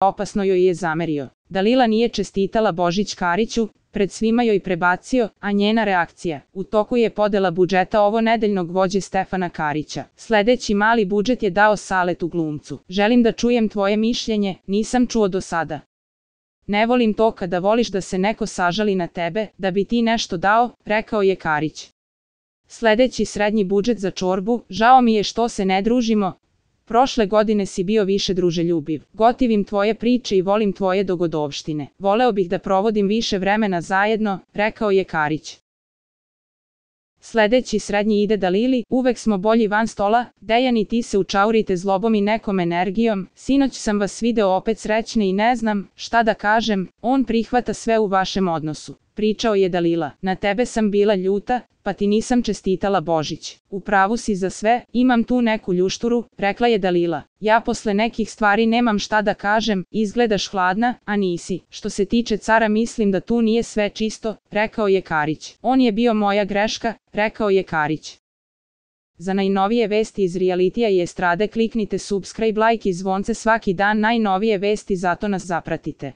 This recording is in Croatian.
opasno joj je zamerio. Dalila nije čestitala Božić Kariću, pred svima joj prebacio, a njena reakcija. U toku je podela budžeta ovo nedeljnog vođe Stefana Karića. Sledeći mali budžet je dao Saletu glumcu. Želim da čujem tvoje mišljenje, nisam čuo do sada. Ne volim to kada voliš da se neko sažali na tebe, da bi ti nešto dao, rekao je Karić. Sledeći srednji budžet za čorbu, žao mi je što se ne družimo. Prošle godine si bio više druželjubiv. Gotivim tvoje priče i volim tvoje dogodovštine. Voleo bih da provodim više vremena zajedno, rekao je Karić. Sledeći srednji ide Dalili, uvek smo bolji van stola, Dejan i ti se učaurite zlobom i nekom energijom, sinoć sam vas video opet srećne i ne znam šta da kažem, on prihvata sve u vašem odnosu. Pričao je Dalila, na tebe sam bila ljuta, pa ti nisam čestitala Božić. U pravu si za sve, imam tu neku ljušturu, rekla je Dalila. Ja posle nekih stvari nemam šta da kažem, izgledaš hladna, a nisi. Što se tiče cara mislim da tu nije sve čisto, rekao je Karić. On je bio moja greška, rekao je Karić. Za najnovije vesti iz realitija i estrade kliknite subscribe, like i zvonce svaki dan, najnovije vesti, zato nas zapratite.